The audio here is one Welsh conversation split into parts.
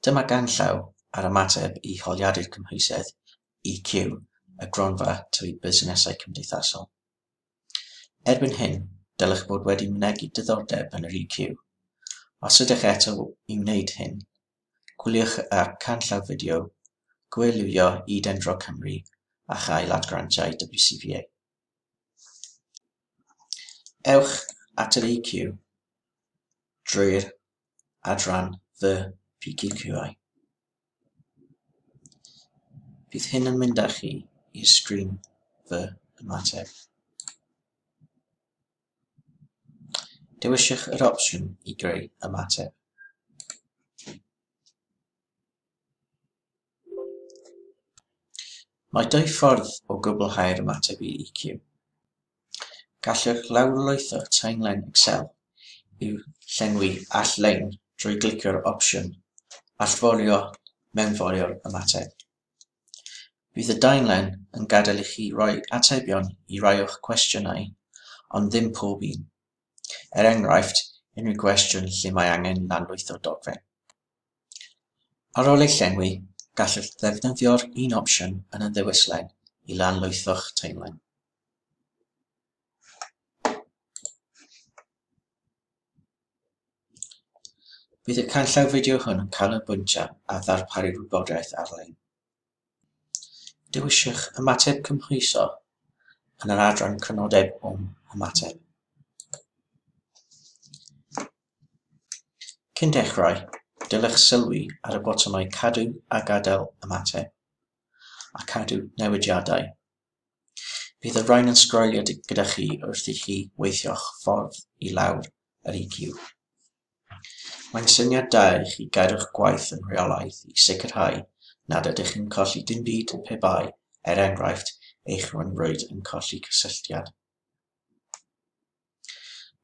Dyma ganllaw ar ymateb i holiadur cymhwysedd EQ y Gronfa Tyfu Busnesau Cymdeithasol. Erbyn hyn, dylech fod wedi mynegi diddordeb yn yr EQ. Os ydych eto i wneud hyn, gwyliwch y canllaw fideo Gwylio i Dendro Cymru a chael at grantiau WCVA. Ewch at yr EQ drwy'r adran Fy PQQI. Bydd hyn yn mynd â chi i'r sgrin Fy Ymateb. Dewiswch yr opsiwn i greu ymateb. Mae dwy ffordd o gwblhau'r ymateb i EQ. Gallwch lawrlwytho taenlen Excel i'w llenwi all-lein drwy glicio'r opsiwn Allforio Mewnforio'r Ymateb. Bydd y daenlen yn gadael i chi roi atebion i rai o'ch cwestiynau, ond ddim pob un. Er enghraifft, unrhyw gwestiwn lle mae angen lanlwytho dogfen. Ar ôl ei llenwi, gallwch ddefnyddio'r un opsiwn yn y ddewislen i lanlwytho'ch taenlen. Bydd y canllaw fideo hwn yn canolbwyntio ar ddarparu wybodaeth ar-lein. Dewiswch Ymateb Cymhwyso yn yr adran Crynodeb o'm Hymateb. Cyn dechrau, dylech sylwi ar y botymau Cadw a Gadael Ymateb a Cadw Newidiadau. Bydd y rhain yn sgrolio gyda chi wrth i chi weithio'ch ffordd i lawr yr EQ. Mae'n syniad da i chi gadw'ch gwaith yn rheolaidd i sicrhau nad ydych yn colli dim byd pe bai, er enghraifft, eich rhyngrwyd yn colli cysylltiad.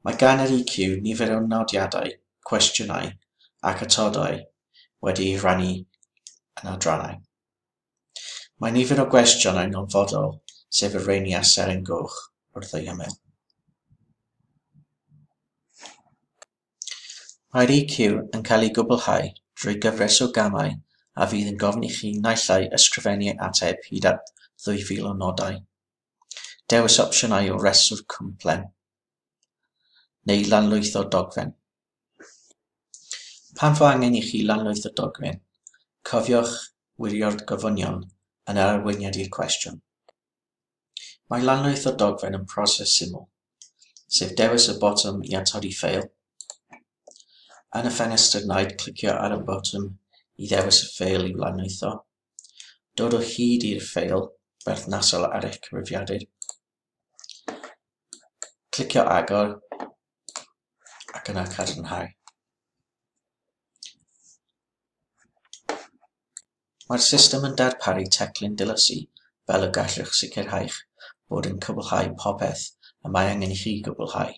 Mae gan yr EQ nifer o nodiadau, cwestiynau ac atodau wedi'u rhannu yn adrannau. Mae nifer o gwestiynau'n hanfodol, sef y rheini â seren goch wrth eu hymyl. Mae'r EQ yn cael ei gwblhau drwy gyfres o gamau a fydd yn gofyn i chi naill ai ysgrifennu ateb hyd at 2,000 o nodau, Dewis opsiynau o restr cwmplen, neu lanlwytho dogfen. Pan fo angen i chi lanlwytho dogfen, cofiwch wirio'r gofynion yn yr arweiniad i'r cwestiwn. Mae lanlwytho dogfen yn proses syml, sef dewis y botwm i atodi ffeil. Yn y ffenestr naid, clicio ar y botwm i ddewis y ffeil i'w lanlwytho. Dod o hyd i'r ffeil berthnasol ar eich cyfrifiadur. Clicio Agor ac yna Cadarnhau. Mae'r system yn darparu teclyn dilysu fel y gallwch sicrhau'ch bod yn cwblhau popeth y mae angen i chi gwblhau,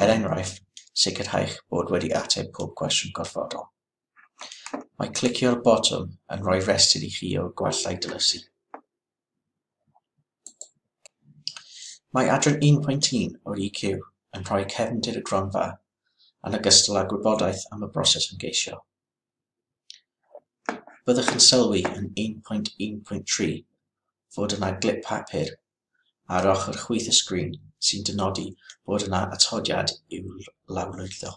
er enghraifft, sicrhau'ch bod wedi ateb pob cwestiwn gorfodol. Mae clicio'r botwm yn rhoi rhestr i chi o'r gwallau dilysu. Mae adran 1.1 o'r EQ yn rhoi cefndir y gronfa yn ogystal â gwybodaeth am y broses ymgeisio. Byddwch yn sylwi yn 1.1.3 fod yna glip papur ar ochr chwith y sgrin sy'n dynodi bod yna atodiad i'w lawrlwytho.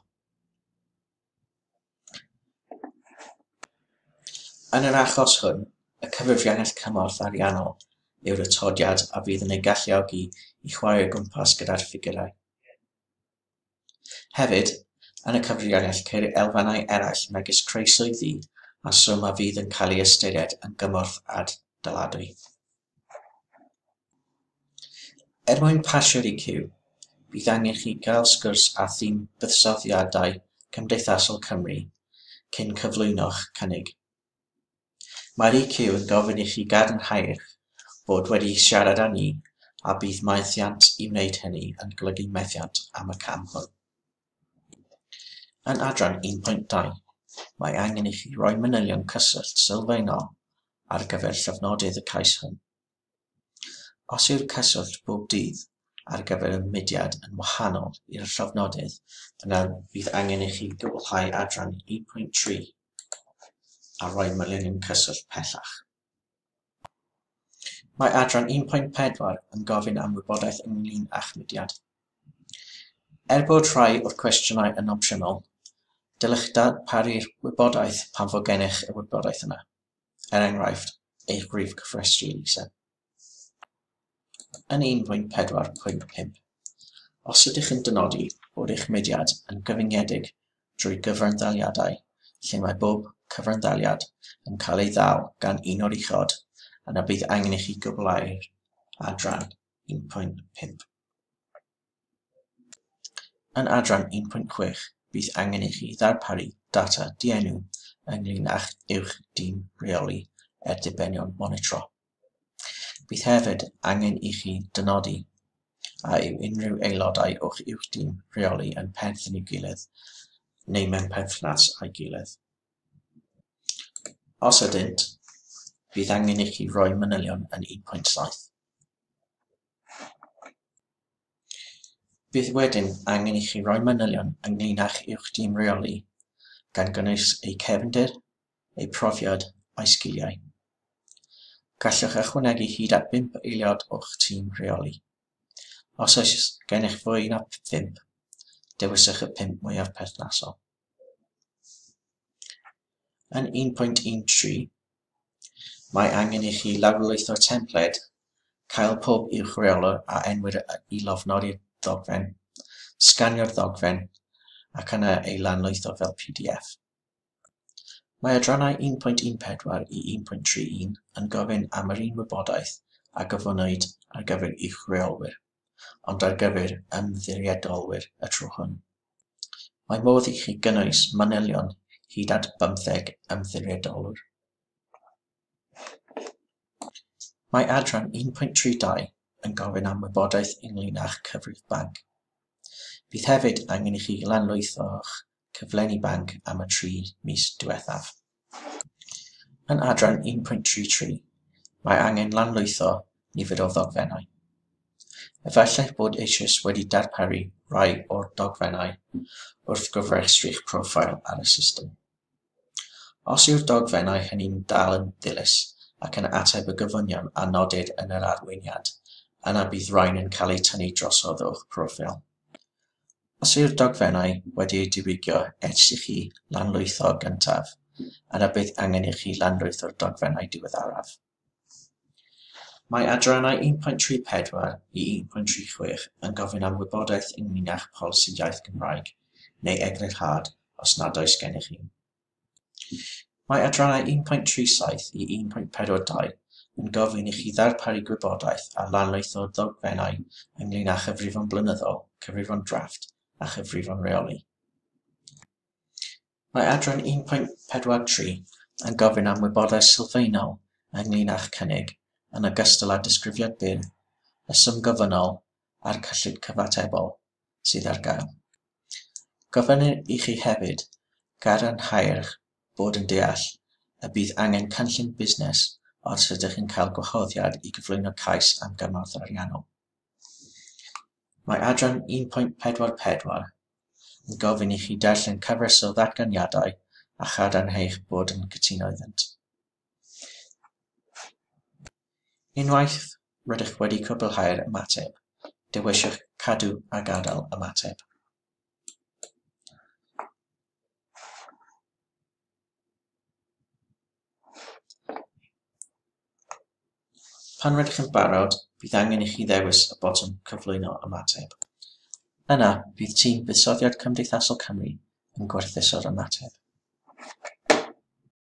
Yn yr achos hwn, y cyfrifiannell cymorth ariannol yw'r atodiad a fydd yn ei galluogi i chwarae o gwmpas gyda'r ffigurau. Hefyd, yn y cyfrifiannell ceir elfennau eraill megis creu swyddi a swm a fydd yn cael ei ystyried yn gymorth ad-daladwy. Er mwyn pasio'r EQ, bydd angen i chi gael sgwrs â thîm Buddsoddiadau Cymdeithasol Cymru cyn cyflwyno'ch cynnig. Mae'r EQ yn gofyn i chi gadarnhau eich bod wedi siarad â ni a bydd methiant i wneud hynny yn golygu methiant am y cam hwn. Yn adran 1.2, mae angen i chi roi manylion cyswllt sylfaenol ar gyfer llofnodydd y cais hwn. Os yw'r cyswllt bob dydd ar gyfer y mudiad yn wahanol i'r llofnodydd, yna bydd angen i chi gwblhau adran 1.3. a rhoi manylion cyswllt pellach. Mae adran 1.4 yn gofyn am wybodaeth ynglŷn â'ch mudiad. Er bod rhai o'r cwestiynau yn opsiynol, dylech darparu'r wybodaeth pan fo gennych y wybodaeth yna, er enghraifft, eich rhif cofrestru elusen. Yn 1.4.5, os ydych yn dynodi bod eich mudiad yn gyfyngedig drwy gyfranddaliadau lle mae bob cyfranddaliad yn cael ei ddal gan un o'r uchod, yna bydd angen i chi gwblhau'r adran 1.5. Yn adran 1.6, bydd angen i chi ddarparu data dienw ynglŷn â'ch uwch dîm rheoli er dibenion monitro. Bydd hefyd angen i chi dynodi a yw unrhyw aelodau o'ch uwch dîm rheoli yn perthyn i'w gilydd neu mewn perthynas â'i gilydd. Os ydynt, bydd angen i chi roi manylion yn 1.7. Bydd wedyn angen i chi roi manylion ynglŷn â'ch uwch dîm rheoli, gan gynnwys eu cefndir, eu profiad a'u sgiliau. Gallwch ychwanegu hyd at 5 aelod o'ch tîm rheoli. Os oes gennych fwy na 5, dewiswch y 5 mwyaf perthnasol. Yn 1.13, mae angen i chi lawrlwytho'r templed, cael pob uwch reolwr a enwir i lofnodi'r ddogfen, sganio'r ddogfen, ac yna ei lanlwytho fel PDF. Mae adrannau 1.14 i 1.31 yn gofyn am yr un wybodaeth a gofynnwyd ar gyfer uwch reolwyr, ond ar gyfer ymddiriedolwyr y tro hwn. Mae modd i chi gynnwys manylion hyd at 15 ymddiriedolwr. Mae adran 1.32 yn gofyn am wybodaeth ynglŷn â'ch cyfrif banc. Bydd hefyd angen i chi lanlwytho'ch cyflenni banc am y 3 mis diwethaf. Yn adran 1.33, mae angen lanlwytho nifer o ddogfennau. Efallai bod eisoes wedi darparu rhai o'r dogfennau wrth gofrestru'ch proffil ar y system. Os yw'r dogfennau hynny'n dal yn ddilys ac yn ateb y gofynion a nodir yn yr arweiniad, yna bydd rhain yn cael eu tynnu drosodd o'ch proffil. Os yw'r dogfennau wedi eu diwygio ers i chi lanlwytho gyntaf, yna bydd angen i chi lanlwytho'r dogfennau diweddaraf. Mae adrannau 1.34 i 1.36 yn gofyn am wybodaeth ynglŷn â'ch polisi iaith Gymraeg neu eglurhad os nad oes gennych un. Mae adrannau 1.37 i 1.42 yn gofyn i chi ddarparu gwybodaeth ar lanlwytho dogfennau ynglŷn â chyfrifon blynyddol, cyfrifon drafft a chyfrifon rheoli. Mae adran 1.43 yn gofyn am wybodaeth sylfaenol ynglŷn â'ch cynnig, yn ogystal â disgrifiad byr, y swm gofynnol a'r cyllid cyfatebol sydd ar gael. Gofynnir i chi hefyd gadarnhau'ch bod yn deall y bydd angen cynllun busnes os ydych yn cael gwahoddiad i gyflwyno cais am gymorth ariannol. Mae adran 1.44 yn gofyn i chi darllen cyfres o ddatganiadau a chadarnhau'ch bod yn cytuno iddynt. Unwaith rydych wedi cwblhau'r ymateb, dewiswch Cadw a Gadael Ymateb. Pan rydych yn barod, bydd angen i chi ddewis y botwm Cyflwyno Ymateb. Yna, bydd tîm Buddsoddiad Cymdeithasol Cymru yn gwerthuso'r ymateb.